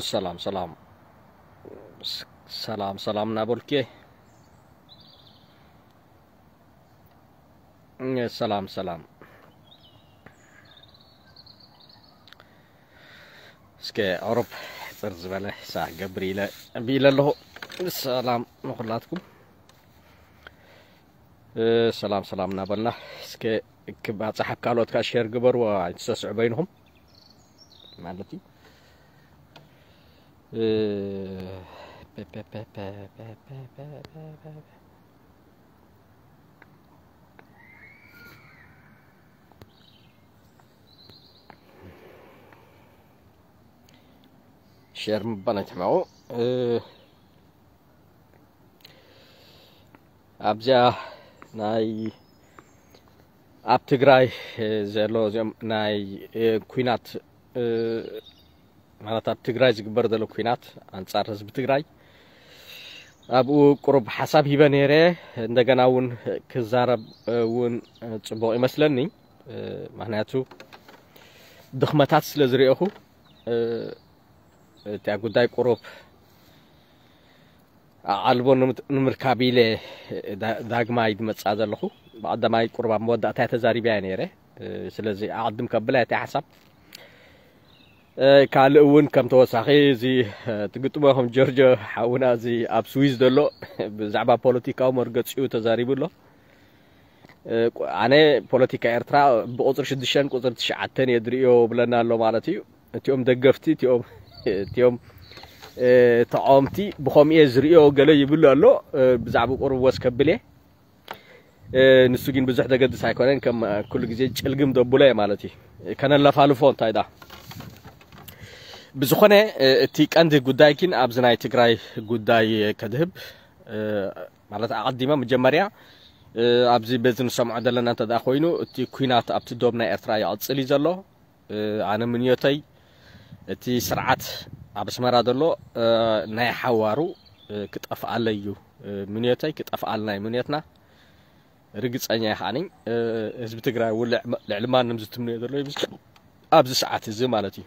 ሰላም ሰላም ሰላም ሰላም እናበልኩ ሰላም ሰላም። እስከ ኦሮፕ ሕፅር ዝበለ ሳዕ ገብር ኢለ ቢለ ኣለኹ። ሰላም ንኹላትኩም። ሰላም ሰላም እናበልና እስከ ክባፅሕ ኣብ ካልኦት ከዓ ሼር ግበርዎ። ኣይትሰስዑ በይንኹም ማለት እዩ። ሸር ምባል ኣይትሕመቑ። ኣብዚኣ ናይ ኣብ ትግራይ ዘሎ እዚኦም ናይ ኩናት ማለት ኣብ ትግራይ ዝግበር ዘሎ ኩናት ኣንጻር ህዝቢ ትግራይ ኣብኡ ቁሩብ ሓሳብ ሂበ ነይረ። እንደገና እውን ክዛረብ እውን ፅቡቕ ይመስለኒ። ምክንያቱ ድኽመታት ስለ ዝርኤኹ እቲኣ ጉዳይ ቁሩብ ኣቓልቦ ንምርካብ ኢለ ዳግማይ ዝመፅኣ ዘለኹ። ብቐዳማይ ቁሩብ ኣብ መወዳእታ ተዛሪበያ ነይረ። ስለዚ ኣቐድም ከብላ እቲ ሓሳብ ካልእ እውን ከም ተወሳኺ እዚ ትግጥሞ ከም ጆርጆ ሓውና እዚ ኣብ ስዊዝ ዘሎ ብዛዕባ ፖለቲካዊ መርገፂኡ ተዛሪቡ ኣሎ። ኣነ ፖለቲካ ኤርትራ ብቁፅሪ ሽዱሽተን ቁፅሪ ትሽዓተን እየ ዝርእዮ ብለና ኣሎ ማለት እዩ። እቲኦም ደገፍቲ እቲኦም እቲኦም ተቃወምቲ ብኸምኡ እየ ዝርእዮ ገለ ይብሉ ኣሎ። ብዛዕባ ቁሩብ ወስ ከብል እየ። ንሱ ግን ብዙሕ ዘገድስ ኣይኮነን። ከም ኩሉ ግዜ ጭልግም ደቡለ ማለት እዩ። ከነለፋልፎ እንታይ ዳ ብዝኾነ እቲ ቀንዲ ጉዳይ ግን ኣብዚ ናይ ትግራይ ጉዳይ ከድህብ ማለት ኣቐዲመ መጀመርያ ኣብዚ በዚ ንሰምዖ ዘለና እንተ ደኣ ኮይኑ እቲ ኩናት ኣብቲ ዶብ ናይ ኤርትራ ይቕጽል እዩ ዘሎ። ኣነ ምንዮተይ እቲ ስርዓት ኣብ ኣስመራ ዘሎ ናይ ሓዋሩ ክጠፍኣለይ እዩ ምንዮተይ፣ ክጠፍኣልና እዩ ምንዮትና። ርግጸኛ እየ ከዓኒ ህዝቢ ትግራይ እውን ልዕሊ ማንም ዝትምንዮ ዘሎ ኣብዚ ሰዓት እዚ ማለት እዩ።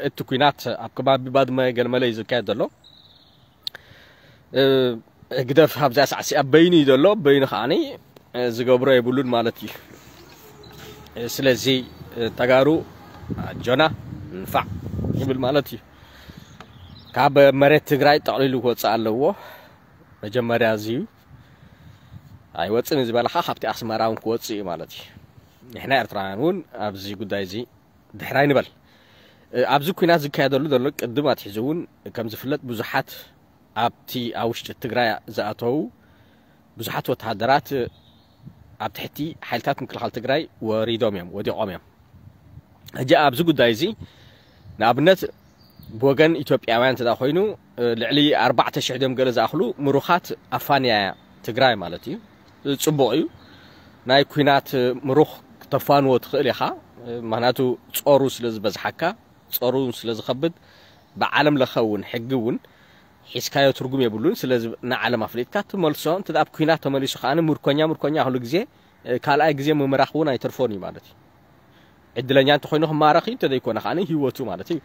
እቲ ኩናት ኣብ ከባቢ ባድመ ገለመለ እዩ ዝካየድ ዘሎ። ህግደፍ ኣብዚኣ ሳዕሲኣ በይኑ እዩ ዘሎ። በይኑ ከዓኒ ዝገብሮ የብሉን ማለት እዩ። ስለዚ ተጋሩ ኣጆና ንፋዕ ይብል ማለት እዩ። ካብ መሬት ትግራይ ጠቕሊሉ ክወፅእ ኣለዎ። መጀመርያ እዚ እዩ። ኣይወፅን ዝበለኻ ካብቲ ኣስመራ እውን ክወፅእ እዩ ማለት እዩ። ንሕና ኤርትራውያን እውን ኣብዚ ጉዳይ እዚ ድሕር ኣይንበል። ኣብዚ ኩናት ዝካየደሉ ዘሎ ቅድም ኣትሒዙ እውን ከም ዝፍለጥ ብዙሓት ኣብቲ ኣብ ውሽጢ ትግራይ ዝኣተዉ ብዙሓት ወተሃደራት ኣብ ትሕቲ ሓይልታት ምክልኻል ትግራይ ወሪዶም እዮም፣ ወዲቖም እዮም። ሕጂ ኣብዚ ጉዳይ እዚ ንኣብነት ብወገን ኢትዮጵያውያን እንተ ኮይኑ ልዕሊ ኣርባዕተ ሽሕ ድዮም ገለ ዝኣኽሉ ምሩኻት ኣፋንያ ትግራይ ማለት እዩ። ጽቡቕ እዩ። ናይ ኩናት ምሩኽ ክተፋንዎ ትኽእል ኢኻ። ምክንያቱ ጾሩ ስለ ዝበዝሓካ፣ ጾሩ ስለ ዝኸብድ፣ ብዓለም ለኸ እውን ሕጊ እውን ሒዝካዮ ትርጉም የብሉን። ስለዚ ንዓለም ኣፍሊጥካ ትመልሶ። እንተ ኣብ ኩናት ተመሊሱ ከኣ ምርኮኛ ምርኮኛ ኩሉ ግዜ ካልኣይ ግዜ ምምራኽ እውን ኣይተርፎን እዩ ማለት እዩ። ዕድለኛ እንተኮይኑ ክማረኽ እዩ፣ እንተዘይኮነ ከዓ ህይወቱ ማለት እዩ።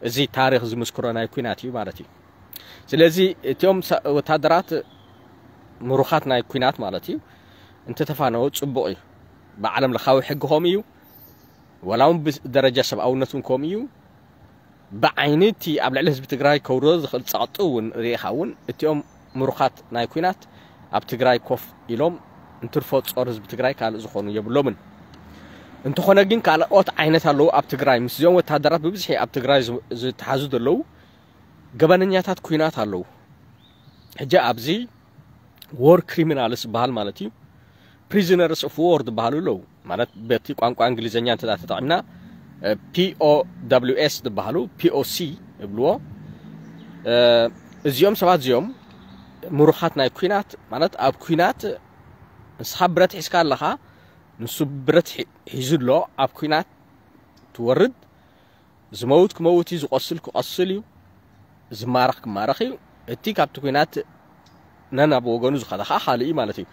እዚ ታሪኽ ዝምስክሮ ናይ ኩናት እዩ ማለት እዩ። ስለዚ እቲኦም ወታደራት ምሩኻት ናይ ኩናት ማለት እዩ እንተተፋነው ፅቡቕ እዩ። ብዓለም ለኻዊ ሕጊ ከምኡ እዩ። ወላ እውን ብደረጃ ሰብኣውነት እውን ከምኡ እዩ። ብዓይኒ እቲ ኣብ ልዕሊ ህዝቢ ትግራይ ከውርዶ ዝኽእል ፀቕጢ እውን ርኢኻ እውን እቲኦም ምሩኻት ናይ ኩናት ኣብ ትግራይ ኮፍ ኢሎም እንትርፎ ጾር ህዝቢ ትግራይ ካልእ ዝኾኑ የብሎምን። እንተኾነ ግን ካልኦት ዓይነት ኣለዉ ኣብ ትግራይ ምስዚኦም ወታደራት ብብዝሒ ኣብ ትግራይ ዝተሓዙ ዘለዉ ገበነኛታት ኩናት ኣለዉ። ሕጂ ኣብዚ ዎር ክሪሚናልስ ዝበሃል ማለት እዩ ፕሪዝነርስ ኦፍ ዎር ዝበሃሉ ኣለዉ። ማለት በቲ ቋንቋ እንግሊዝኛ እንተ ተጠቂምና ፒኦደብሊውኤስ ዝበሃሉ፣ ፒኦሲ ይብልዎ። እዚኦም ሰባት እዚኦም ምሩኻት ናይ ኩናት፣ ማለት ኣብ ኩናት ንስኻ ብረት ሒዝካ ኣለኻ፣ ንሱ ብረት ሒ- ሒዙ ኣሎ። ኣብ ኩናት ትወርድ፣ ዝመውት ክመውት እዩ፣ ዝቆስል ክቆስል እዩ፣ ዝማረኽ ክማረኽ እዩ። እቲ ካብቲ ኩናት ነናብ ወገኑ ዝኸደ ከዓ ካልእ እዩ ማለት እዩ።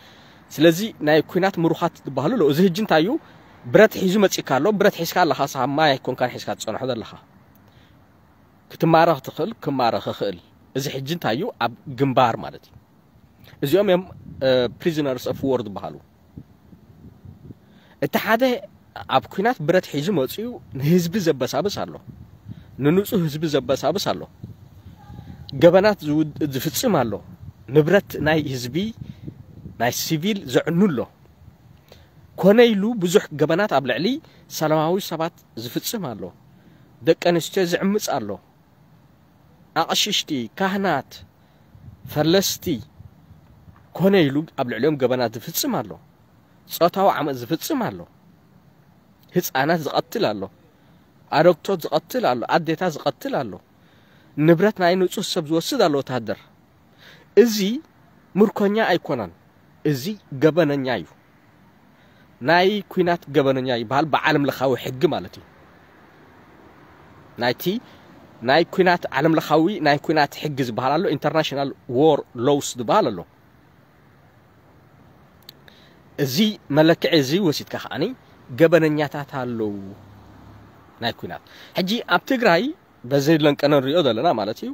ስለዚ ናይ ኩናት ምሩኻት ዝበሃሉ ኣለዉ። እዚ ሕጂ እንታይ እዩ? ብረት ሒዙ መፂካ ኣሎ። ብረት ሒዝካ ኣለኻ፣ ሳማ ኣይኮንካን ሒዝካ ትፀንሖ ዘለኻ። ክትማረኽ ትኽእል፣ ክማረኽ ይኽእል። እዚ ሕጂ እንታይ እዩ? ኣብ ግንባር ማለት እዩ። እዚኦም እዮም prisoners of war ዝበሃሉ። እቲ ሓደ ኣብ ኩናት ብረት ሒዙ መፅኡ ንህዝቢ ዘበሳብስ ኣሎ፣ ንንፁህ ህዝቢ ዘበሳብስ ኣሎ፣ ገበናት ዝውድ- ዝፍፅም ኣሎ፣ ንብረት ናይ ህዝቢ ናይ ሲቪል ዘዕኑ ኣሎ። ኮነ ኢሉ ብዙሕ ገበናት ኣብ ልዕሊ ሰላማዊ ሰባት ዝፍፅም ኣሎ፣ ደቂ ኣንስትዮ ዝዕምፅ ኣሎ፣ ኣቕሽሽቲ፣ ካህናት፣ ፈለስቲ፣ ኮነ ኢሉ ኣብ ልዕሊኦም ገበናት ዝፍፅም ኣሎ፣ ፆታዊ ዓመፅ ዝፍፅም ኣሎ፣ ህፃናት ዝቐትል ኣሎ፣ ኣረግቶት ዝቐትል ኣሎ፣ ኣዴታት ዝቐትል ኣሎ፣ ንብረት ናይ ንፁህ ሰብ ዝወስድ ኣሎ ወታደር። እዚ ምርኮኛ ኣይኮነን፣ እዚ ገበነኛ እዩ። ናይ ኩናት ገበነኛ ይበሃል ብዓለም ለኻዊ ሕጊ ማለት እዩ። ናይቲ ናይ ኩናት ዓለም ለኻዊ ናይ ኩናት ሕጊ ዝበሃል ኣሎ፣ international war laws ዝበሃል ኣሎ። እዚ መለክዒ እዚ ወሲድካ ከዓኒ ገበነኛታት ኣለዉ ናይ ኩናት። ሕጂ ኣብ ትግራይ በዚ ለንቀነ ንሪኦ ዘለና ማለት እዩ፣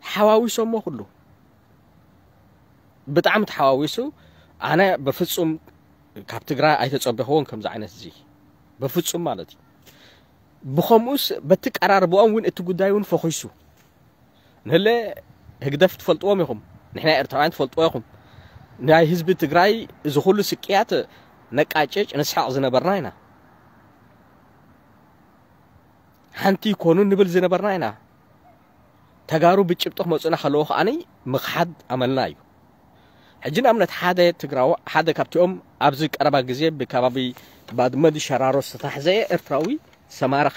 ሓዋዊሶሞ ኩሉ ብጣዕሚ ተሓዋዊሱ። ኣነ በፍጹም ካብ ትግራይ ኣይተጸበኽዎን ከምዚ ዓይነት እዚ በፍጹም ማለት እዩ። ብኸምኡስ በቲ ቀራርብኦም እውን እቲ ጉዳይ እውን ፈኺሱ ንህለ ህግደፍ ትፈልጥዎም ኢኹም፣ ንሕና ኤርትራውያን ትፈልጥዎ ኢኹም። ናይ ህዝቢ ትግራይ እዚ ኩሉ ስቅያት ነቃጭጭ ንስሕቕ ዝነበርና ኢና። ሓንቲ ይኮኑ ንብል ዝነበርና ኢና። ተጋሩ ብጭብጢ ክመፁና ከለዉ ከዓኒ ምኽሓድ ኣመልና እዩ። ሕጂ ንኣብነት ሓደ ትግራዊ ሓደ ካብቲኦም ኣብዚ ቀረባ ግዜ ብከባቢ ባድመ ድሸራሮ ዝተታሕዘ ኤርትራዊ ዝተማረኸ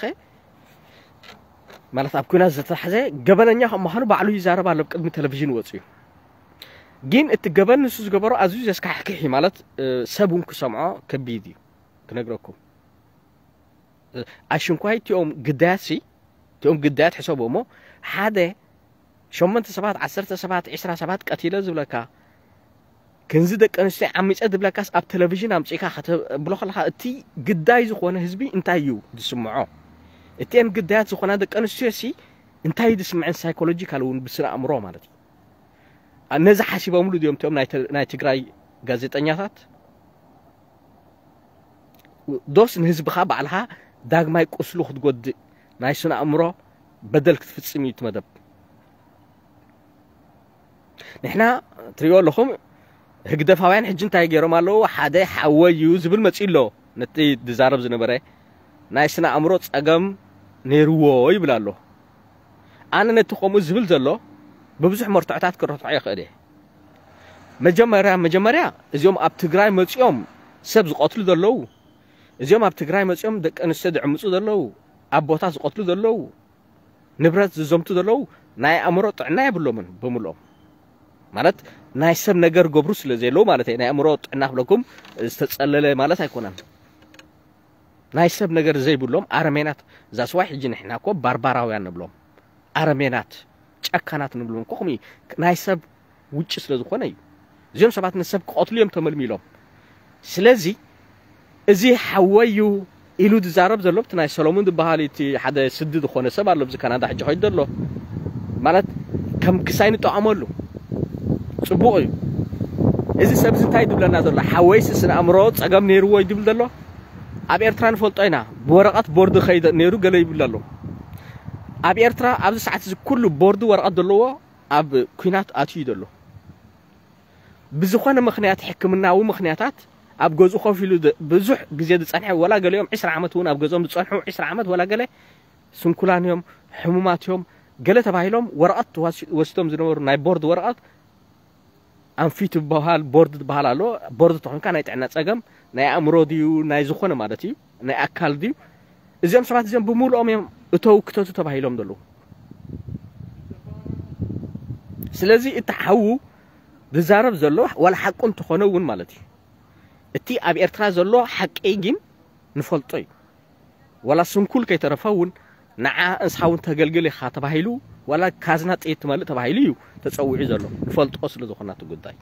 ማለት ኣብ ኩናት ዝተታሕዘ ገበነኛ ከም ምዃኑ ባዕሉ ይዛረብ ኣሎ ቅድሚ ቴሌቪዥን ወፅዩ። ግን እቲ ገበን ንሱ ዝገበሮ ኣዝዩ ዘስካሕክሕ እዩ ማለት ሰብ እውን ክሰምዖ ከቢድ እዩ ክነግረኩም። ኣሽንኳይ እቲኦም ግዳያት ሲ እቲኦም ግዳያት ሕሰቡ እሞ ሓደ ሸሞንተ ሰባት ዓሰርተ ሰባት ዒስራ ሰባት ቀቲለ ዝብለካ ክንዚ ደቂ ኣንስትዮ ዓሚፀ ዝብለካስ ኣብ ቴሌቪዥን ኣምፂእካ ከተብሎ ከለካ እቲ ግዳይ ዝኾነ ህዝቢ እንታይ እዩ ዝስምዖ? እቲአን ግዳያት ዝኾና ደቂ ኣንስትዮ ሲ እንታይ እዩ ዝስምዐን ሳይኮሎጂካል እውን ብስነ ኣእምሮ ማለት እዩ። ነዚ ሓሲቦምሉ ድዮም እቲኦም ናይ ትግራይ ጋዜጠኛታት? ዶስ ንህዝብኻ ባዕልኻ ዳግማይ ቁስሉ ክትጎድእ ናይ ስነ ኣእምሮ በደል ክትፍጽም እዩ እቲ መደብ። ንሕና ትሪኦ ኣለኹም ህግደፋውያን ሕጂ እንታይ ገይሮም ኣለዉ? ሓደ ሓወይ እዩ ዝብል መጺኡ ኣሎ። ነቲ ዝዛረብ ዝነበረ ናይ ስነ ኣእምሮ ጸገም ነይርዎ ይብል ኣሎ። ኣነ ነቲ ከምኡ ዝብል ዘሎ ብብዙሕ መርትዖታት ክረትዖ ይኽእል እየ። መጀመርያ መጀመርያ እዚኦም ኣብ ትግራይ መፂኦም ሰብ ዝቐትሉ ዘለዉ፣ እዚኦም ኣብ ትግራይ መፂኦም ደቂ ኣንስትዮ ዝዕምፁ ዘለዉ፣ ኣቦታት ዝቐትሉ ዘለዉ፣ ንብረት ዝዘምቱ ዘለዉ ናይ ኣእምሮ ጥዕና የብሎምን ብምልኦም። ማለት ናይ ሰብ ነገር ገብሩ ስለ ዘየለዉ ማለት እየ። ናይ ኣእምሮ ጥዕና ክብለኩም ዝተፀለለ ማለት ኣይኮነን። ናይ ሰብ ነገር ዘይብሎም ኣረሜናት ዛስዋይ ሕጂ ንሕና እኮ ባርባራውያን ንብሎም ኣረሜናት ጨካናት ንብሎም እኮ ከምኡ ናይ ሰብ ውጭ ስለ ዝኾነ እዩ። እዚኦም ሰባት ንሰብ ክቐትሉ እዮም ተመልሚሎም። ስለዚ እዚ ሓወይ እዩ ኢሉ ዝዛረብ ዘሎ እቲ ናይ ሰሎሙን ዝበሃል እቲ ሓደ ስዲ ዝኾነ ሰብ ኣሎ ኣብዚ ካናዳ ሕጂ ከይዱ ዘሎ ማለት ከም ክሳይ ንጠቐመሉ ጽቡቕ እዩ። እዚ ሰብ እዚ እንታይ ድብለና ዘሎ ሓወይስ ስነ ኣእምሮ ጸገም ነይርዎ እዩ ድብል ዘሎ። ኣብ ኤርትራ ንፈልጦ ኢና ብወረቐት ቦርድ ከይደ ነይሩ ገለ ይብል ኣሎ። ኣብ ኤርትራ ኣብዚ ሰዓት እዚ ኩሉ ቦርድ ወረቐት ዘለዎ ኣብ ኩናት ኣትዩ ዘሎ። ብዝኾነ ምኽንያት ሕክምናዊ ምኽንያታት ኣብ ገዝኡ ኮፍ ኢሉ ብዙሕ ግዜ ዝጸንሐ ወላ ገሊኦም ዕስራ ዓመት እውን ኣብ ገዝኦም ዝጸንሑ ዕስራ ዓመት ወላ ገለ ስንኩላን እዮም ሕሙማት እዮም ገለ ተባሂሎም ወረቐት ወሲዶም ዝነበሩ ናይ ቦርድ ወረቐት ኣንፊት ዝበሃል ቦርድ ዝበሃል ኣሎ። ቦርድ ተኾንካ ናይ ጥዕና ጸገም ናይ ኣእምሮ ድዩ ናይ ዝኾነ ማለት እዩ ናይ ኣካል ድዩ እዚኦም ሰባት እዚኦም ብምሉኦም እዮም እተው ክተቱ ተባሂሎም ዘለዉ። ስለዚ እቲ ሓዉ ዝዛረብ ዘሎ ዋላ ሓቁ እንተኾነ እውን ማለት እዩ፣ እቲ ኣብ ኤርትራ ዘሎ ሓቂ ግን ንፈልጦ እዩ። ዋላ ስንኩል ከይተረፈ እውን ንዓ እንስኻ እውን ተገልግል ኢኻ ተባሂሉ፣ ዋላ ካዝና ጥይት ትመልእ ተባሂሉ እዩ ተጸዊዑ ዘሎ፣ ንፈልጦ ስለ ዝኾና እቲ ጉዳይ።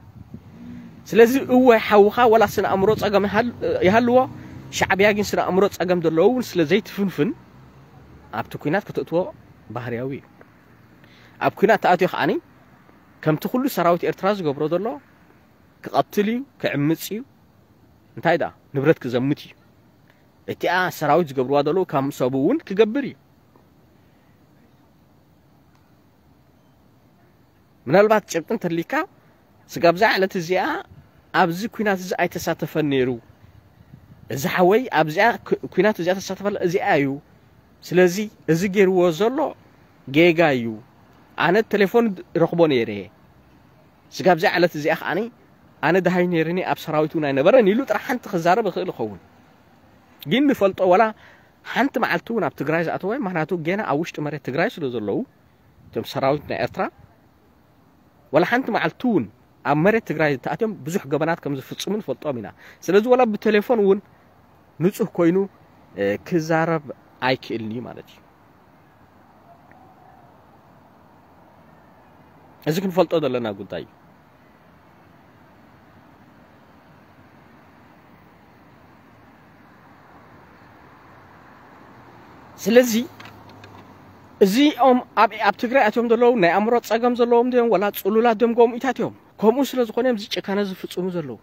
ስለዚ እወ ሓውኻ ዋላ ስነ ኣእምሮ ጸገም ይሃል- ይሃልዎ፣ ሻዕብያ ግን ስነ ኣእምሮ ጸገም ዘለዎ እውን ስለ ዘይትፍንፍን ኣብቲ ኲናት ከተእትዎ ባህርያዊ እዩ። ኣብ ኲናት ተኣትዮ ከዓኒ ከምቲ ኩሉ ሰራዊት ኤርትራ ዝገብሮ ዘሎ ክቐትል እዩ፣ ክዕምጽ እዩ፣ እንታይ ደኣ ንብረት ክዘምት እዩ። እቲኣ ሰራዊት ዝገብርዋ ዘለዉ ከም ሰቡ እውን ክገብር እዩ። ምናልባት ጭብጢ እንተሊካ ስጋብ እዛ ዕለት እዚኣ ኣብዚ ኲናት እዚ ኣይተሳተፈን ነይሩ፣ እዚ ሓወይ ኣብዚኣ ኩ- ኲናት እዚኣ ተሳተፈላ እዚኣ እዩ። ስለዚ እዚ ገይርዎ ዘሎ ጌጋ እዩ። ኣነ ቴሌፎን ረኽቦ ነይረ። ስጋብ እዛ ዕለት እዚኣ ከዓኒ ኣነ ደሃይ ነይርኒ፣ ኣብ ሰራዊት እውን ኣይነበረን ኢሉ ጥራሕ ሓንቲ ክዛረብ ይኽእል ይኸውን። ግን ንፈልጦ ዋላ ሓንቲ መዓልቲ እውን ኣብ ትግራይ ዝኣተወ፣ ምኽንያቱ ጌና ኣብ ውሽጢ መሬት ትግራይ ስለ ዘለዉ እቶም ሰራዊት ናይ ኤርትራ ዋላ ሓንቲ መዓልቲ እውን ኣብ መሬት ትግራይ ተኣትዮም ብዙሕ ገበናት ከም ዝፍጽሙ ንፈልጦም ኢና። ስለዚ ዋላ ብቴሌፎን እውን ንጹህ ኮይኑ እ፣ ክዛረብ ኣይክእልን እዩ ማለት እዩ። እዚ ክንፈልጦ ዘለና ጉዳይ እዩ። ስለዚ እዚኦም ኣብ ኣብ ትግራይ ኣትዮም ዘለዉ ናይ ኣእምሮ ጸገም ዘለዎም ድዮም ወላ ጽሉላት ድዮም ጎምኢታት እዮም? ከምኡ ስለ ዝኾነ እዮም እዚ ጭካነ ዝፍጽሙ ዘለዉ።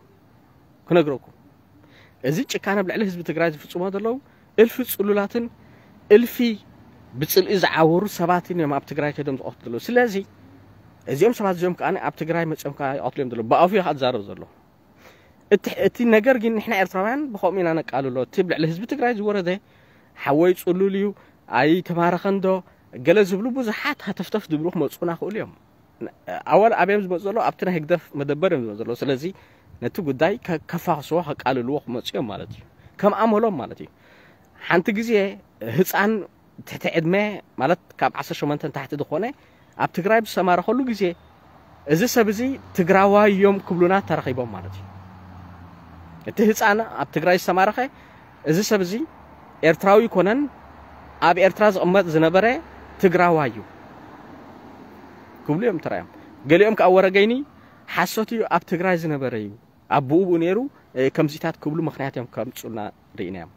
ክነግረኩም፣ እዚ ጭካነ ኣብ ልዕሊ ህዝቢ ትግራይ ዝፍጽሞ ዘለዉ እልፊ ጽሉላትን እልፊ ብጽልኢ ዝዓወሩ ሰባትን እዮም ኣብ ትግራይ ከይዶም ዝቐትሉ ዘለዉ። ስለዚ እዚኦም ሰባት እዚኦም ከዓ ኣብ ትግራይ መፅኦም ከዓ ይቐትሉ እዮም ዘለዉ። ብኣፉ እዩ ከዓ ዝዛረብ ዘሎ። እቲ እቲ ነገር ግን ንሕና ኤርትራውያን ብኸምኡ ኢና ነቃልሎ። እቲ ኣብ ልዕሊ ህዝቢ ትግራይ ዝወረደ ሓወይ ጽሉል እዩ፣ ኣይተማረኸን ዶ ገለ ዝብሉ ብዙሓት ሃተፍተፍ ዝብሉ ክመፁና ክእሉ እዮም። ኣወል ኣበዮም ዝመፁ ዘለዉ ኣብቲ ናይ ህግደፍ መደበር እዮም ዝመፁ ዘለዉ። ስለዚ ነቲ ጉዳይ ከ- ከፋኽስዎ ከቃልልዎ ክመፁ እዮም ማለት እዩ። ከም ኣመሎም ማለት እዩ። ሓንቲ ግዜ ህፃን ትሕቲ ዕድመ ማለት ካብ ዓሰርተ ሸሞንተ ንታሕቲ ዝኾነ ኣብ ትግራይ ብዝተማረኸሉ ግዜ እዚ ሰብ እዚ ትግራዋይ እዮም ክብሉና ተረኺቦም ማለት እዩ። እቲ ህፃን ኣብ ትግራይ ዝተማረኸ እዚ ሰብ እዚ ኤርትራዊ ይኮነን ኣብ ኤርትራ ዝቕመጥ ዝነበረ ትግራዋይ እዩ ክብሉ እዮም ተራዮም። ገሊኦም ከዓ ወረገይኒ ሓሶት እዩ ኣብ ትግራይ ዝነበረ እዩ ኣቦኡ ብኡ ነይሩ እ፣ ከምዚታት ክብሉ ምክንያት እዮም ከምፁልና ርኢናዮም።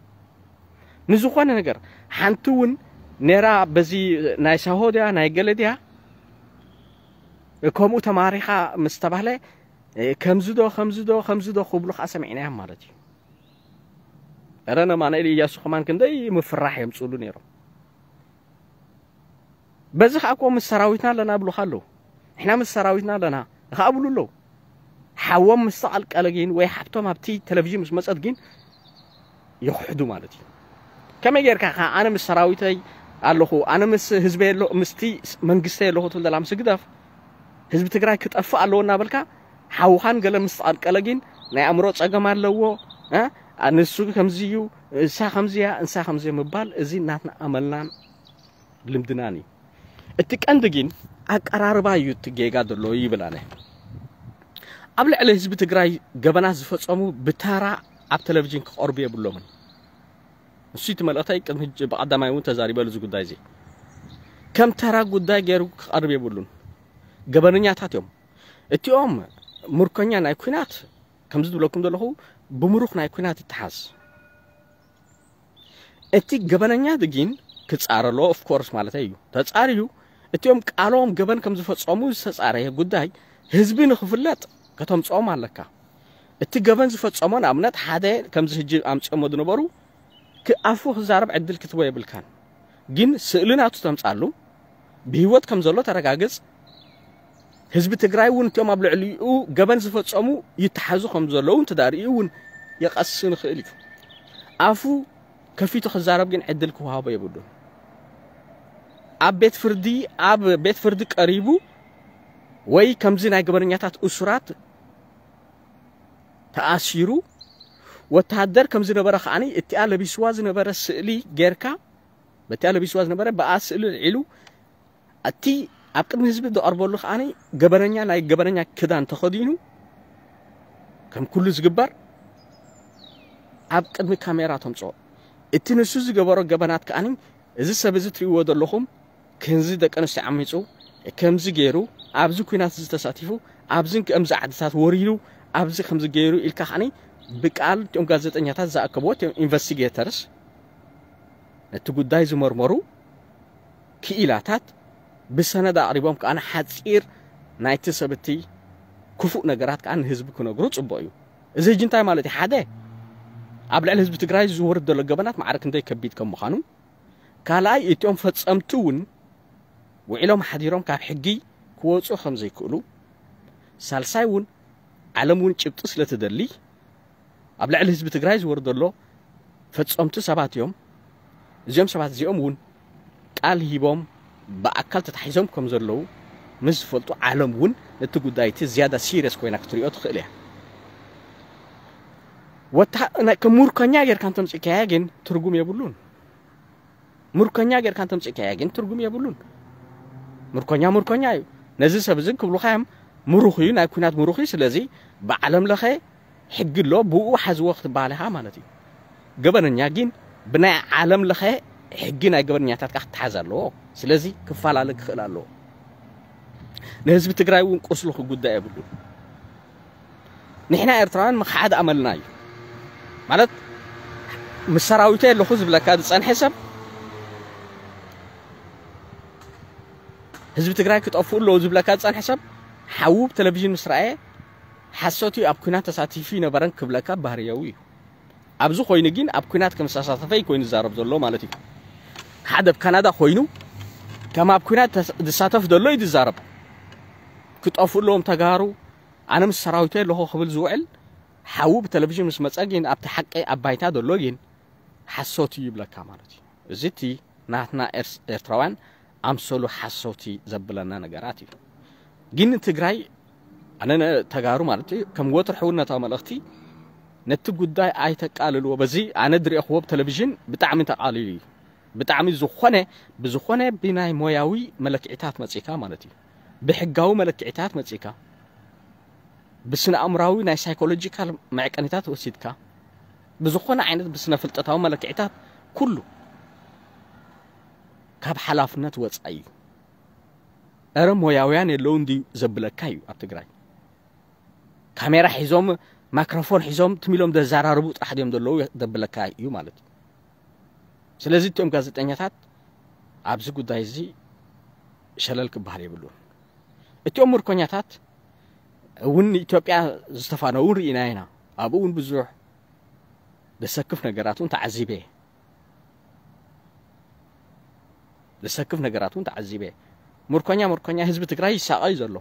ንዝኾነ ነገር ሓንቲ እውን ነራ በዚ ናይ ሳሆ ድያ ናይ ገለ ድያ እ፣ ከምኡ ተማሪኻ ምስ ተባህለ እ፣ ከምዚ ዶ ከምዚ ዶ ከምዚ ዶ ክብሉ ከዓ ሰሚዕናዮም ማለት እዩ። ረ ነማንኤል እያሱ ከማን ክንደይ ምፍራሕ የምፅሉ ነይሮም። በዚ ከዓ እኮ ምስ ሰራዊትና ኣለና ብሉካ ኣለዉ። ንሕና ምስ ሰራዊትና ኣለና ከዓ ብሉ ኣለዉ። ሓዎም ምስ ተቐልቀለ ግን ወይ ሓብቶም ኣብቲ ቴሌቪዥን ምስ መፀት ግን ይኽሕዱ ማለት እዩ። ከመይ ጌርካ ከዓ ኣነ ምስ ሰራዊተይ ኣለኹ፣ ኣነ ምስ ህዝበይ ኣሎ ምስቲ መንግስተይ ኣለኹ ትብል ዘላ ምስ ግደፍ ህዝቢ ትግራይ ክጠፍእ ኣለዎ እናበልካ ሓውኻን ገለ ምስ ተቐልቀለ ግን ናይ ኣእምሮ ፀገም ኣለዎ እ? ንሱ ከምዚ እዩ፣ እሳ ከምዚ እያ፣ እንሳ ከምዚ እያ ምባል እዚ ናትና ኣመልናን ልምድናን እዩ። እቲ ቀንዲ ግን ኣቀራርባ እዩ እቲ ጌጋ ዘሎ ይብል ኣነ። ኣብ ልዕሊ ህዝቢ ትግራይ ገበናት ዝፈፀሙ ብታራ ኣብ ቴሌቪዥን ክቐርቡ የብሎምን። ንሱ እቲ መልእኽተይ ቅድሚ ሕጂ ብቐዳማይ እውን ተዛሪበሉ እዚ ጉዳይ እዚ ከም ተራ ጉዳይ ገይሩ ክቐርብ የብሉን። ገበነኛታት እዮም። እቲኦም ምርኮኛ ናይ ኩናት ከምዚ ዝብለኩም ዘለኹ ብምሩኽ ናይ ኩናት ይተሓዝ። እቲ ገበነኛ ግን ክጻረሎ ኦፍኮርስ ማለት እዩ ተጻርዩ እቲኦም ቃሎም ገበን ከም ዝፈጸሙ ዝተጻረየ ጉዳይ ህዝቢ ንክፍለጥ ከተምጽኦም ኣለካ። እቲ ገበን ዝፈጸሞ ንኣብነት ሓደ ከምዚ ህጂ ኣምጽኦሞ ዝነበሩ ክኣፉ ክዛረብ ዕድል ክትቦ የብልካን። ግን ስእሊ ናቱ ተምጻሉ ብህይወት ከም ዘሎ ተረጋግጽ። ህዝቢ ትግራይ እውን እቲኦም ኣብ ልዕሊኡ ገበን ዝፈጸሙ ይተሓዙ ከም ዘለዉ እንተዳርእዩ እውን የቐሲ ንኽእል እዩ። ኣፉ ከፊቱ ክዛረብ ግን ዕድል ክወሃቦ የብሉን። ኣብ ቤት ፍርዲ ኣብ ቤት ፍርዲ ቀሪቡ ወይ ከምዚ ናይ ገበነኛታት እሱራት ተኣሲሩ ወተሃደር ከም ዝነበረ ከዓኒ እቲኣ ለቢስዋ ዝነበረ ስእሊ ጌርካ በቲ ኣለቢስዋ ዝነበረ ብኣ ስእሊ ልዒሉ እቲ ኣብ ቅድሚ ህዝቢ ዝቐርበሉ ከዓኒ ገበነኛ ናይ ገበነኛ ክዳን ተኸዲኑ ከም ኩሉ ዝግበር ኣብ ቅድሚ ካሜራ ተምፅኦ። እቲ ንሱ ዝገበሮ ገበናት ከዓኒ እዚ ሰብ እዚ ትሪእዎ ዘለኹም ከምዚ ደቂ ኣንስትዮ ዓሚፁ፣ ከምዚ ገይሩ፣ ኣብዚ ኲናት እዚ ተሳቲፉ፣ ኣብዚ ከምዚ ዓድታት ወሪሩ፣ ኣብዚ ከምዚ ገይሩ ኢልካ ከዓኒ ብቃል እቲኦም ጋዜጠኛታት ዝኣከብዎ እቲኦም ኢንቨስቲጌተርስ ነቲ ጉዳይ ዝመርመሩ ክኢላታት ብሰነድ ኣቕሪቦም ከኣ ሓጺር ናይቲ ሰብ እቲ ክፉእ ነገራት ከኣ ንህዝቢ ክነግሩ ጽቡቕ እዩ። እዚ ሕጂ እንታይ ማለት እዩ? ሓደ ኣብ ልዕሊ ህዝቢ ትግራይ ዝወርድ ዘሎ ገበናት ማዕረ ክንደይ ከቢድ ከም ምዃኑ፣ ካልኣይ እቲኦም ፈጸምቲ እውን ውዒሎም ሓዲሮም ካብ ሕጊ ክወፁ ከም ዘይክእሉ፣ ሳልሳይ እውን ዓለም እውን ጭብጢ ስለ ትደሊ ኣብ ልዕሊ ህዝቢ ትግራይ ዝወርድ ዘሎ ፈጸምቲ ሰባት እዮም። እዚኦም ሰባት እዚኦም እውን ቃል ሂቦም ብኣካል ተታሒዞም ከም ዘለዉ ምስ ዝፈልጡ ዓለም እውን ነቲ ጉዳይ እቲ ዝያዳ ሲሪየስ ኮይና ክትሪኦ ትኽእል እያ። ወታ ከም ሙርከኛ ጌርካ እንተምፅእካያ ግን ትርጉም የብሉን። ሙርከኛ ጌርካ እንተምፅእካያ ግን ትርጉም የብሉን። ሙርከኛ ሙርከኛ እዩ። ነዚ ሰብ እዚ ክብሉኻ እዮም ምሩኽ እዩ፣ ናይ ኩናት ምሩኽ እዩ። ስለዚ ብዓለም ለኸ ሕጊ ኣሎ፣ ብኡ ሓዝዎ ክትበሃል ኢኻ ማለት እዩ። ገበነኛ ግን ብናይ ዓለም ለኸ ሕጊ ናይ ገበነኛታት ከዓ ክትሓዝ ኣለዎ። ስለዚ ክፈላለ ክኽእል ኣለዎ። ንህዝቢ ትግራይ እውን ቁስሉ ክጉዳእ የብሉን። ንሕና ኤርትራውያን ምኽሓድ ኣመልና እዩ። ማለት ምስ ሰራዊተይ ኣለኹ ዝብለካ ዝጸንሐ ሰብ፣ ህዝቢ ትግራይ ክጠፍኡ ኣለዉ ዝብለካ ዝጸንሐ ሰብ ሓዉ ብቴሌቪዥን ምስ ረኣየ ሓሶት እዩ፣ ኣብ ኲናት ተሳቲፉ ይነበረን ክብለካ ባህርያዊ እዩ። ኣብዚ ኮይኑ ግን ኣብ ኲናት ከም ዝተሳተፈ እዩ ኮይኑ ዝዛረብ ዘሎ ማለት እዩ። ሓደ ኣብ ካናዳ ኮይኑ ከም ኣብ ኲናት ተስ- ዝሳተፍ ዘሎ እዩ ዝዛረብ። ክጠፍኡ ኣለዎም ተጋሩ፣ ኣነ ምስ ሰራዊተይ ኣለኹ ክብል ዝውዕል ሓዉ ብቴሌቪዥን ምስ መጸ ግን ኣብቲ ሓቂ ኣብ ባይታ ዘሎ ግን ሓሶት እዩ ይብለካ ማለት እዩ። እዚ እቲ ናትና ኤርስ- ኤርትራውያን ኣምሰሉ ሓሶት እዩ ዘብለና ነገራት እዩ። ግን ንትግራይ ኣነ ነ- ተጋሩ ማለት እዩ ከም ወትሩ ሕውነታዊ መልእኽቲ ነቲ ጉዳይ ኣይተቃልልዎ። በዚ ኣነ ዝሪኦ ክወብ ቴሌቪዥን ብጣዕሚ ተቃሊሉ እዩ። ብጣዕሚ ዝኾነ ብዝኾነ ብናይ ሞያዊ መለክዒታት መጺካ ማለት እዩ። ብሕጋዊ መለክዒታት መጺካ ብስነ ኣእምራዊ ናይ ሳይኮሎጂካል መዕቀኒታት ወሲድካ ብዝኾነ ዓይነት ብስነ ፍልጠታዊ መለክዒታት ኩሉ ካብ ሓላፍነት ወፃኢ እዩ። እረ ሞያውያን የለውን ድዩ ዘብለካ እዩ ኣብ ትግራይ። ካሜራ ሒዞም ማይክሮፎን ሒዞም ትሚሎም ዘዘራርቡ ጥራሕ ድዮም ዘለዉ ዘብለካ እዩ ማለት እዩ። ስለዚ እቲኦም ጋዜጠኛታት ኣብዚ ጉዳይ እዚ ሸለል ክበሃል የብሉን። እቲኦም ምርኮኛታት እውን ንኢትዮጵያ ዝተፋነው ርኢና ኢና። ኣብኡ እውን ብዙሕ ዘሰክፍ ነገራት እውን ተዓዚበ። ዘሰክፍ ነገራት እውን ተዓዚበ። ምርኮኛ ምርኮኛ ህዝቢ ትግራይ ይሳቐ እዩ ዘሎ።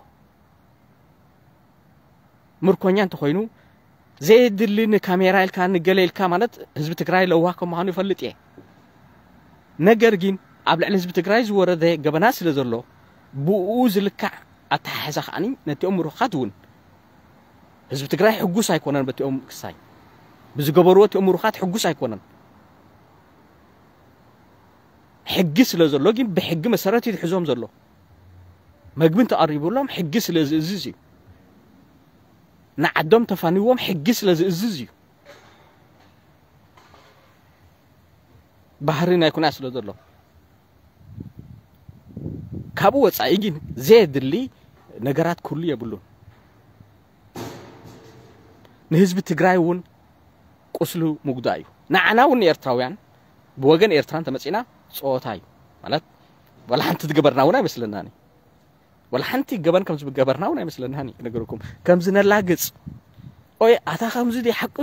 ምርኮኛ እንተኾይኑ ዘየድሊ ንካሜራ ኢልካ ንገለ ኢልካ ማለት ህዝቢ ትግራይ ለዋህ ከም ምዃኑ ይፈልጥ እየ። ነገር ግን ኣብ ልዕሊ ህዝቢ ትግራይ ዝወረደ ገበና ስለ ዘሎ ብኡ ዝልካዕ ኣተሓሕዛ ከዓኒ ነቲኦም ምሩኻት እውን ህዝቢ ትግራይ ሕጉስ ኣይኮነን በቲኦም ክሳይ ብዝገበርዎ እቲኦም ምሩኻት ሕጉስ ኣይኮነን። ሕጊ ስለ ዘሎ ግን ብሕጊ መሰረት እዩ ዝሕዞም ዘሎ። መግቢ እንተቐሪቡሎም ሕጊ ስለ ዝእዝዝ እዩ። ንዓዶም ተፋንዎም ሕጊ ስለ ዝእዝዝ እዩ። ባህሪ ናይ ኩናት ስለ ዘሎ ካብኡ ወፃኢ ግን ዘየድሊ ነገራት ክህሉ የብሉን። ንህዝቢ ትግራይ እውን ቁስሉ ምጉዳእ እዩ። ንዓና እውን ንኤርትራውያን ብወገን ኤርትራ እንተመፂና ፀወታ እዩ ማለት ዋላ ሓንቲ ዝገበርና እውን ኣይመስለናን እዩ። ዋላ ሓንቲ ገበን ከም ዝገበርና እውን ኣይመስለናን እዩ ክነገረኩም ከም ዝነላግፅ ኦይ ኣታ ከምዚ ዲ ሓቂ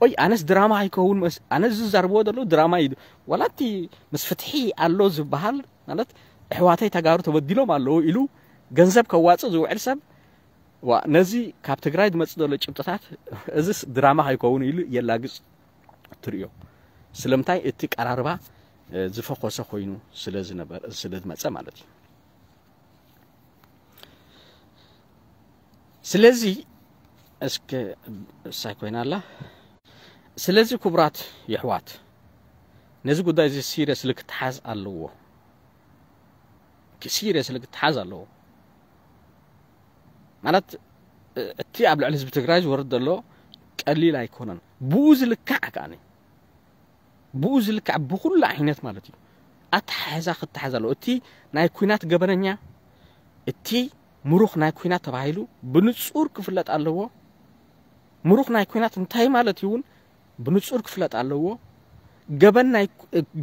ኦይ ኣነስ ድራማ ኣይከውን መስ ኣነ ዝዛርብዎ ዘለዉ ድራማ እዩ። ዋላ እቲ ምስ ፍትሒ ኣሎ ዝበሃል ማለት ኣሕዋተይ ተጋሩ ተበዲሎም ኣለዉ ኢሉ ገንዘብ ከዋፅእ ዝውዕል ሰብ ዋ ነዚ ካብ ትግራይ ዝመፅእ ዘሎ ጭብጥታት እዚስ ድራማ ከይከውን ኢሉ የላግፅ ትርእዮ። ስለምንታይ እቲ ቀራርባ ዝፈኾሰ ኮይኑ ስለ ዝመፀ ማለት እዩ። ስለዚ እስከ እሳይ ኮይና ኣላ። ስለዚ ክቡራት የሕዋት ነዚ ጉዳይ እዚ ሲሪየስሊ ክትሓዝ ኣለዎ። ሲሪየስሊ ክትሓዝ ኣለዎ። ማለት እቲ ኣብ ልዕሊ ህዝቢ ትግራይ ዝወርድ ዘሎ ቀሊል ኣይኮነን። ብኡ ዝልካዕ ከዓኒ ብኡ ዝልካዕ ብኩሉ ዓይነት ማለት እዩ ኣተሓሕዛ ክትሓዝ ኣለዎ። እቲ ናይ ኩናት ገበነኛ፣ እቲ ምሩኽ ናይ ኩናት ተባሂሉ ብንጹር ክፍለጥ ኣለዎ። ምሩኽ ናይ ኩናት እንታይ ማለት እዩ እውን ብንጹር ክፍለጥ ኣለዎ። ገበን ናይ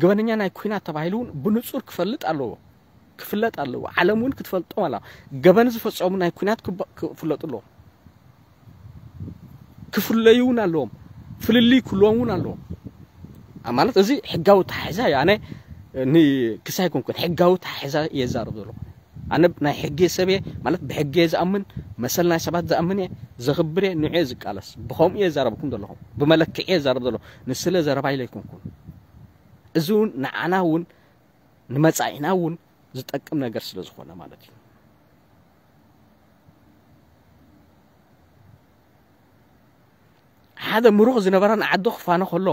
ገበነኛ ናይ ኩናት ተባሂሉ እውን ብንጹር ክፈልጥ ኣለዎ። ክፍለጥ ኣለዎ። ዓለም እውን ክትፈልጦም ኣለዋ። ገበን ዝፈጸሙ ናይ ኩናት ክፍለጡ ኣለዎ። ክፍለዩ እውን ኣለዎም። ፍልልይ ክህልዎም እውን ኣለዎም። ማለት እዚ ሕጋዊ ተሓሕዛ እዩ። ኣነ ክሳይ ኮንኩን ሕጋዊ ተሓሕዛ እየ ዛረብ ዘለኹ። ኣነ ናይ ሕጊ ሰብ እየ፣ ማለት ብሕጊ እየ ዝኣምን፣ መሰል ናይ ሰባት ዝኣምን እየ፣ ዘኽብር እየ፣ ንዑ እየ ዝቃለስ። ብኸምኡ እየ ዛረብኩም ዘለኹ። ብመለክዒ እየ ዛረብ ዘለኹ። ንስለ ዘረባ ኢለ ኣይኮንኩን። እዚ እውን ንዓና እውን ንመጻኢና እውን ዝጠቅም ነገር ስለ ዝኾነ ማለት እዩ። ሓደ ምሩኽ ዝነበረ ንዓዱ ክፋኖ ከሎ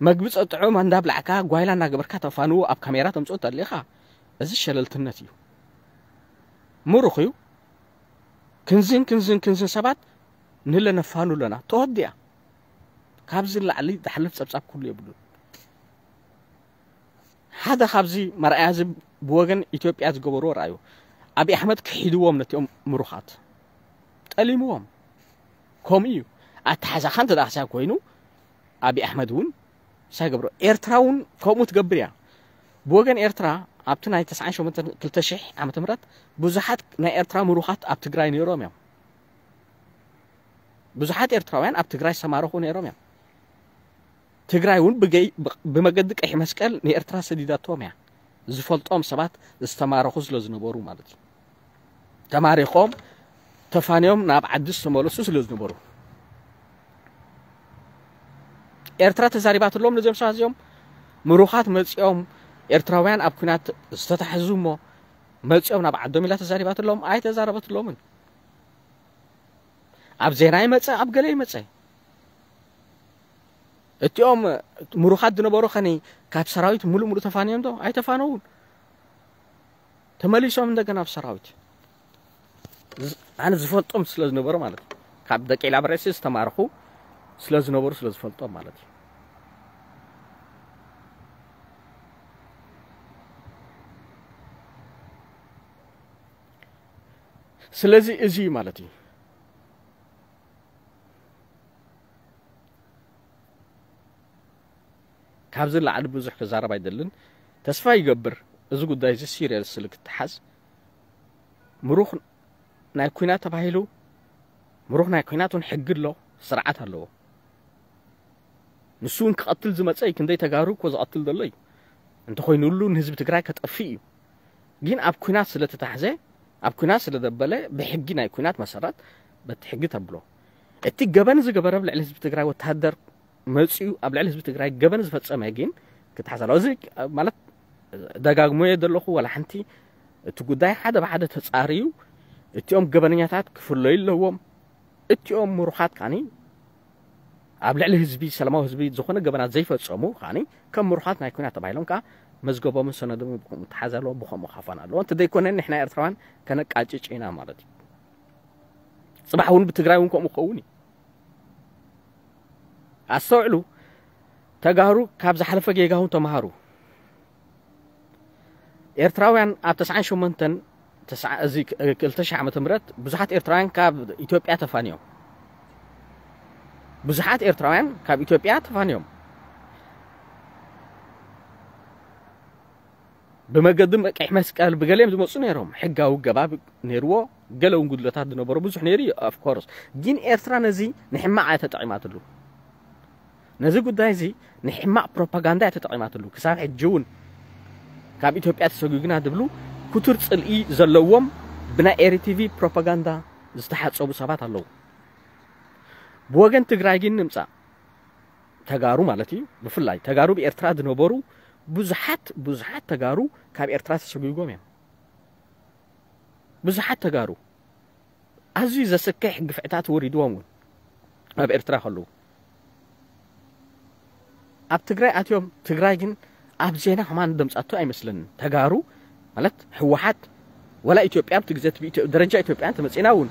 መግቢ ጸጥዑ እንዳብላዕካ ጓይላ እናገበርካ ተፋንዎ ኣብ ካሜራ ተምጽኦ ተሊኻ፣ እዚ ሸለልትነት እዩ። ምሩኽ እዩ። ክንዝን ክንዝን ክንዝን ሰባት ንለ ነፋኑ ኣለና። ተወዲኣ። ካብዚ ላዕሊ ዝሓልፍ ጸብጻብ ኩሉ የብሉን። ሓደ ካብዚ መርኣያ እዚ ብወገን ኢትዮጵያ ዝገበርዎ ረኣዩ። ኣብይ ኣሕመድ ክሒድዎም ነቲኦም ምሩኻት። ጠሊምዎም። ከምኡ እዩ። ኣተሓዛኻ እንተ ደኣ ክሳብ ኮይኑ ኣብይ ኣሕመድ እውን ሳይ ገብሮ። ኤርትራ እውን ከምኡ ትገብር እያ። ብወገን ኤርትራ ኣብቲ ናይ ተስዓን ሸሞንተን ክልተ ሽሕ ዓመተ ምህረት ብዙሓት ናይ ኤርትራ ምሩኻት ኣብ ትግራይ ነይሮም እዮም። ብዙሓት ኤርትራውያን ኣብ ትግራይ ዝተማረኹ ነይሮም እዮም። ትግራይ እውን ብገይ ብመገዲ ቀይሕ መስቀል ንኤርትራ ሰዲዳቶም እያ። ዝፈልጦም ሰባት ዝተማረኹ ስለ ዝነበሩ ማለት እዩ። ተማሪኾም ተፋንዮም ናብ ዓዲ ዝተመለሱ ስለ ዝነበሩ ኤርትራ ተዛሪባትሎም ነዚኦም ሰባት እዚኦም ምሩኻት መጺኦም ኤርትራውያን ኣብ ኩናት ዝተታሕዙ እሞ መጺኦም ናብ ዓዶም ኢላ ተዛሪባትሎም ኣይተዛረበትሎምን። ኣብ ዜና ይመጸ ኣብ ገለ ይመጸ እቲኦም ምሩኻት ዝነበሩ ኸኒ ካብ ሰራዊት ሙሉእ ሙሉእ ተፋንዮም ዶ ኣይተፋነውን። ተመሊሶም እንደገና ኣብ ሰራዊት ኣነ ዝፈልጦም ስለ ዝነበሩ ማለት ካብ ደቂ ላብረሲ ዝተማርኹ ስለ ዝነበሩ ስለ ዝፈልጦም ማለት እዩ። ስለዚ እዚ ማለት እዩ። ካብዚ ላዕሊ ብዙሕ ክዛረብ ኣይደልን። ተስፋ ይገብር እዚ ጉዳይ እዚ ሲሪየስ ስለ ክተሓዝ ምሩኽ ናይ ኩናት ተባሂሉ ምሩኽ ናይ ኩናት እውን ሕጊ ኣሎ፣ ስርዓት ኣለዎ። ንሱ እውን ክቐትል ዝመፀ እዩ። ክንደይ ተጋሩ እኮ ዝቐትል ዘሎ እዩ። እንተኾይኑሉ ንህዝቢ ትግራይ ከጠፍእ እዩ። ግን ኣብ ኩናት ስለ ተታሕዘ ኣብ ኩናት ስለ ደበለ ብሕጊ ናይ ኩናት መሰረት በቲ ሕጊ ተብሎ። እቲ ገበን ዝገበረ ኣብ ልዕሊ ህዝቢ ትግራይ ወታደር መፂኡ ኣብ ልዕሊ ህዝቢ ትግራይ ገበን ዝፈፀመ ግን ክተሓዝ ኣለዎ። እዚ ማለት ደጋግሞ እየ ዘለኹ ዋላ ሓንቲ እቲ ጉዳይ ሓደ ብሓደ ተፃርዩ እቲኦም ገበነኛታት ክፍለዩ ኣለዎም። እቲኦም ምሩኻት ካኒ ኣብ ልዕሊ ህዝቢ ሰላማዊ ህዝቢ ዝኾነ ገበናት ዘይፈፀሙ ካኒ ከም ምሩኻት ናይ ኩናት ተባሂሎም ከዓ መዝገቦምን ሰነዶምን ብከምኡ ተሓዝ ኣለዎ ብከምኡ ካፋን ኣለዎ እንተ ዘይኮነ ንሕና ኤርትራውያን ከነቃጭጭ ኢና ማለት እዩ። ፅባሕ እውን ብትግራይ እውን ከምኡ ክኸውን እዩ። ኣስተውዕሉ። ተጋሩ ካብ ዝሓለፈ ጌጋ እውን ተምሃሩ። ኤርትራውያን ኣብ ተስዓን ሸሞንተን እዚ ክልተ ሽሕ ዓመተ ምህረት ብዙሓት ኤርትራውያን ካብ ኢትዮጵያ ተፋንዮም። ብዙሓት ኤርትራውያን ካብ ኢትዮጵያ ተፋንዮም። ብመገዲ ቀይሕ መስቀል ብገሊኦም ዝመፁ ነይሮም። ሕጋዊ ገባብ ነይርዎ። ገለ እውን ጉድለታት ዝነበሮ ብዙሕ ነይሩ እዩ። ኦፍኮርስ ግን ኤርትራ ነዚ ንሕማቕ እያ ተጠቒማትሉ። ነዚ ጉዳይ እዚ ንሕማቕ ፕሮፓጋንዳ እያ ተጠቒማትሉ። ክሳብ ሕጂ እውን ካብ ኢትዮጵያ ተሰጒግና ዝብሉ ክቱር ፅልኢ ዘለዎም ብናይ ኤሪቲቪ ፕሮፓጋንዳ ዝተሓፀቡ ሰባት ኣለዉ። ብወገን ትግራይ ግን ንምፃእ ተጋሩ ማለት እዩ። ብፍላይ ተጋሩ ብኤርትራ ዝነበሩ ብዙሓት ብዙሓት ተጋሩ ካብ ኤርትራ ተሰጒጎም እዮም። ብዙሓት ተጋሩ ኣዝዩ ዘስክሕ ግፍዕታት ወሪድዎም እውን ኣብ ኤርትራ ከለዉ ኣብ ትግራይ ኣትዮም። ትግራይ ግን ኣብ ዜና ከማን ደምፃቶ ኣይመስለንን። ተጋሩ ማለት ህወሓት ወላ ኢትዮጵያ ኣብቲ ግዜ እቲ ብኢትዮ- ደረጃ ኢትዮጵያ እንተመፂና እውን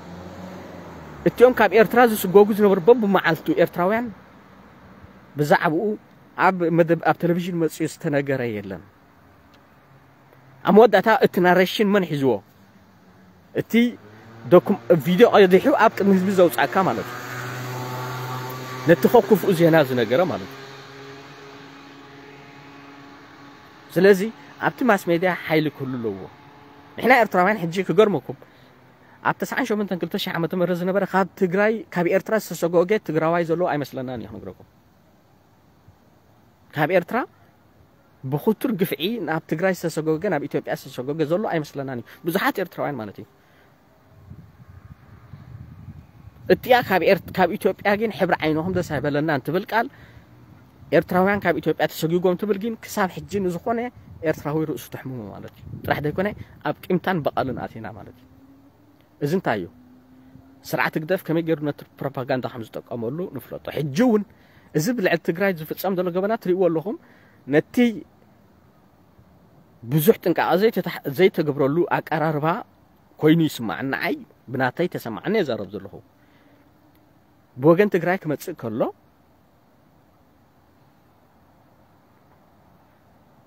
እቲኦም ካብ ኤርትራ ዝስጎጉ ዝነበሩ በብመዓልቱ ኤርትራውያን ብዛዕባኡ ኣብ መደብ ኣብ ቴሌቪዥን መፅኡ ዝተነገረ የለን። ኣብ መወዳእታ እቲ ናሬሽን መን ሒዝዎ? እቲ ዶኩም ቪድዮ ቀዲሑ ኣብ ቅድሚ ህዝቢ ዘውፃእካ ማለት እዩ። ነቲ ከኩፍኡ ዜና ዝነገረ ማለት እዩ። ስለዚ ኣብቲ ማስ ሜድያ ሓይሊ ክህሉ ኣለዎ። ንሕና ኤርትራውያን ሕጂ ክገርመኩም ኣብ ተስዓን ሸሞንተን ክልተ ሽሕ ዓመተ ምህረት ዝነበረ ካብ ትግራይ ካብ ኤርትራ ዝተሰጎገ ትግራዋይ ዘሎ ኣይመስለናን እዩ ክነግረኩም። ካብ ኤርትራ ብክቱር ግፍዒ ናብ ትግራይ ዝተሰጎገ ናብ ኢትዮጵያ ዝተሰጎገ ዘሎ ኣይመስለናን እዩ። ብዙሓት ኤርትራውያን ማለት እዩ። እቲኣ ካብ ኤርት- ካብ ኢትዮጵያ ግን ሕብሪ ዓይንኹም ደስ ኣይበለናን ትብል ቃል ኤርትራውያን ካብ ኢትዮጵያ ተሰጊጎም ትብል ግን ክሳብ ሕጂ ንዝኾነ ኤርትራዊ ርእሱ ተሕምሞ ማለት እዩ። ጥራሕ ዘይኮነ ኣብ ቂምታን በቐልን ኣቲና ማለት እዩ። እዚ እንታይ እዩ? ስርዓት ህግደፍ ከመይ ገይሩ ነቲ ፕሮፓጋንዳ ከም ዝጥቀመሉ ንፍለጦ። ሕጂ እውን እዚ ብልዕሊ ትግራይ ዝፍጸም ዘሎ ገበናት ትሪእዎ ኣለኹም። ነቲ ብዙሕ ጥንቃቐ ዘይተታሕ- ዘይተገብረሉ ኣቀራርባ ኮይኑ ይስማዕ ንዓይ። ብናተይ ተሰማዕኒ የዛረብ ዘለኹ። ብወገን ትግራይ ክመጽእ ከሎ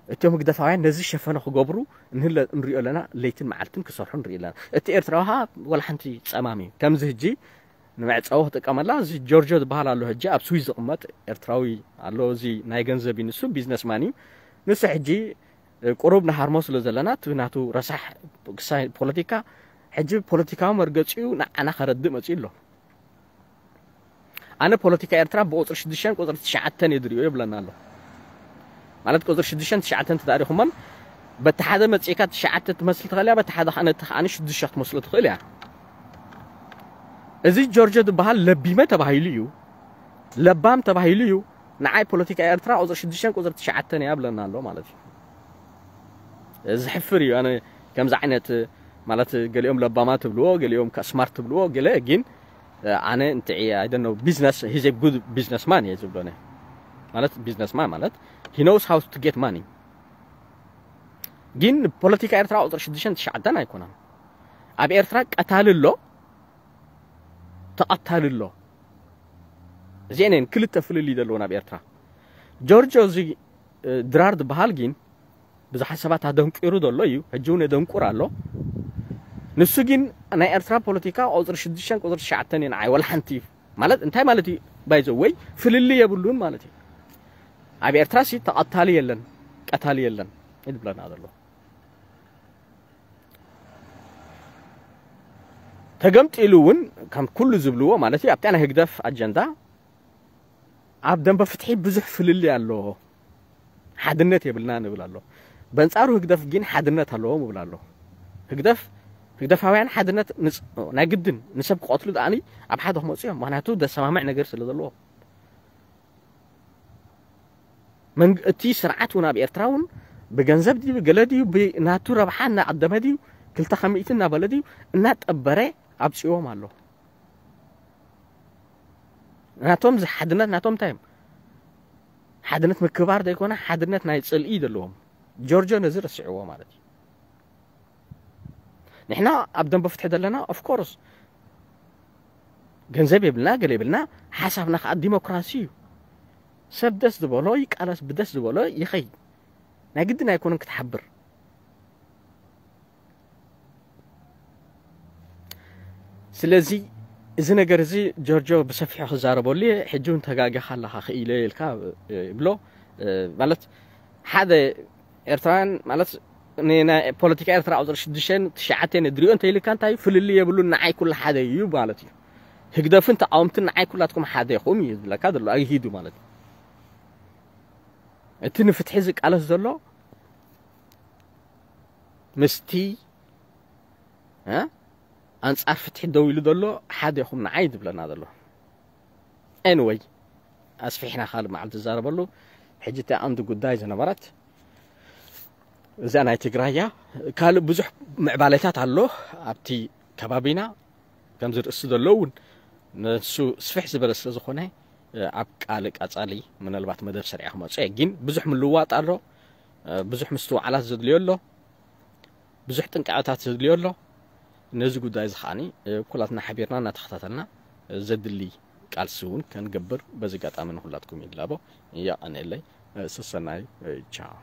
እቶም ህግደፋውያን ነዚ ሸፈነ ክገብሩ ንህለ- ንሪኦ ኣለና። ለይትን መዓልትን ክሰርሑ ንሪኢ ኣለና። እቲ ኤርትራዊ ኸኣ ወላ ሓንቲ ጸማም እዩ። ከምዚ ሕጂ ንመዕጸዊ ክጥቀመላ እዚ ጆርጆ ዝበሃል ኣሎ። ሕጂ ኣብ ስዊዝ ዝቕመጥ ኤርትራዊ ኣሎ። እዚ ናይ ገንዘብ እዩ ንሱ፣ ቢዝነስማን እዩ። ንሱ ሕጂ ቁሩብ ንሃርሞ ስለ ዘለና እቲ ናቱ ረሳሕ ክሳይ ፖለቲካ ሕጂ ፖለቲካዊ መርገጺኡ ንዓና ከረድእ መጺኡ ኣሎ። ኣነ ፖለቲካ ኤርትራ ብቁፅሪ ሽዱሽተን ቁፅሪ ትሽዓተን እየ ዝሪኦ ይብለና ኣሎ። ማለት ቁፅሪ ሽዱሽተን ትሽዓተን ተዳሪኹሞን በቲ ሓደ መፂእካ ትሽዓተ ትመስል ትኽእል እያ፣ በቲ ሓደ ከዓ ነቲ ከዓ ሽዱሽተ ክትመስሎ ትኽእል እያ። እዚ ጆርጆ ዝበሃል ለቢመ ተባሂሉ እዩ፣ ለባም ተባሂሉ እዩ። ንዓይ ፖለቲካ ኤርትራ ቁፅሪ ሽዱሽተን ቁፅሪ ትሽዓተን እያ ብለና ኣሎ ማለት እዩ። እዚ ሕፍር እዩ። ኣነ ከምዚ ዓይነት ማለት ገሊኦም ለባማ ትብልዎ፣ ገሊኦም ከ ስማርት ትብልዎ፣ ገለ ግን ኣነ እንትዒ I don't know business he's a good businessman እየ ዝብሎ ነ ማለት businessman ማለት he knows how to get money። ግን ፖለቲካ ኤርትራ ቁፅሪ ሽዱሽተን ትሽዓተን ኣይኮነን። ኣብ ኤርትራ ቀታሊ ኣሎ፣ ተቐታሊ ኣሎ። እዚአን እየን ክልተ ፍልልይ ዘለወን ኣብ ኤርትራ። ጆርጆ እዚ ድራር ዝበሃል ግን ብዙሓት ሰባት ኣደንቂሩ ዘሎ እዩ፣ ሕጂ እውን የደንቁር ኣሎ። ንሱ ግን ናይ ኤርትራ ፖለቲካ ቁፅሪ ሽዱሽተን ቁፅሪ ትሽዓተን እዩ ንዓይ ወላ ሓንቲ እዩ ማለት እንታይ ማለት እዩ? ባይዘ ወይ ፍልልይ የብሉን ማለት እዩ። ኣብ ኤርትራ ሲ ተቐታሊ የለን ቀታሊ የለን ይብለና ዘሎ። ተገምጢሉ እውን ከም ኩሉ ዝብልዎ ማለት እዩ ኣብታ ናይ ህግደፍ ኣጀንዳ ኣብ ደንበ ፍትሒ ብዙሕ ፍልልይ ኣሎ። ሓድነት የብልና ንብል ኣሎ። በንጻሩ ህግደፍ ግን ሓድነት ኣለዎም ይብል ኣሎ። ህግደፍ ህግደፋውያን ሓድነት ናይ ግድን ንሰብ ክቐትሉ ደኣኒ ኣብ ሓደ ክመፁ እዮም። ምክንያቱ ደሰማምዕ ነገር ስለ ዘለዎ እቲ ስርዓት እውን ኣብ ኤርትራ እውን ብገንዘብ ድዩ ገለ ድዩ ብናቱ ረብሓ እናቐደመ ድዩ ክልተ ከሚእቲ እናበለ ድዩ እናጠበረ ኣብፅዎም ኣሎ። ናቶም ሓድነት ናቶም እንታይ እዮም? ሓድነት ምክባር ዘይኮነ ሓድነት ናይ ፅልኢ ዘለዎም። ጆርጆ ነዚ ረስዕዎ ማለት እዩ። ንሕና ኣብ ደንበ ፍትሒ ዘለና ኦፍኮርስ ገንዘብ የብልና ገለ የብልና፣ ሓሳብና ከዓ ዲሞክራሲ እዩ። ሰብ ደስ ዝበሎ ይቃለስ፣ ብደስ ዝበሎ ይኸይ። ናይ ግድን ኣይኮነን ክትሓብር። ስለዚ እዚ ነገር እዚ ጆርጆ ብሰፊሑ ክዛረበሉ እየ። ሕጂ እውን ተጋጊኻ ኣለኻ ክኢለ ኢልካ ይብሎ። ማለት ሓደ ኤርትራውያን ማለት ናይ ፖለቲካ ኤርትራ ቁፅሪ ሽዱሽተን ትሽዓተን ድሪኦ እንተ ኢልካ እንታይ ፍልልይ የብሉን፣ ንዓይ ኩሉ ሓደ እዩ ማለት እዩ። ህግደፍን ተቃወምትን ንዓይ ኩላትኩም ሓደ ኢኹም እዩ ዝብለካ ዘሎ ኣግሂዱ ማለት እዩ። እቲ ንፍትሒ ዝቃለስ ዘሎ ምስቲ ኣንጻር ፍትሒ ደው ኢሉ ዘሎ ሓደ ኢኹም ንዓይ ዝብለና ዘሎ። ኤንወይ ኣስፊሕና ካልእ መዓልቲ ዝዛረበሉ። ሕጂ እቲ ኣንዱ ጉዳይ ዝነበረት እዛ ናይ ትግራይ እያ። ካልእ ብዙሕ ምዕባለታት ኣሎ ኣብቲ ከባቢና። ከምዚ ርእሲ ዘሎ እውን ንሱ ስፍሕ ዝበለ ስለ ዝኾነ ኣብ ቃል ቀጻሊ ምናልባት መደብ ሰሪዐ ክመጽእ እየ። ግን ብዙሕ ምልዋጥ ኣሎ፣ ብዙሕ ምስትውዓላት ዘድልዮ ኣሎ፣ ብዙሕ ጥንቃቐታት ዘድልዮ ኣሎ። ነዚ ጉዳይ እዚ ከዓኒ ኩላትና ሓቢርና እናተኸታተልና ዘድሊ ቃልሲ እውን ከንገብር በዚ ኣጋጣሚ ንኩላትኩም ይላቦ። የቐንየለይ። ሰሰናዩ። ቻው።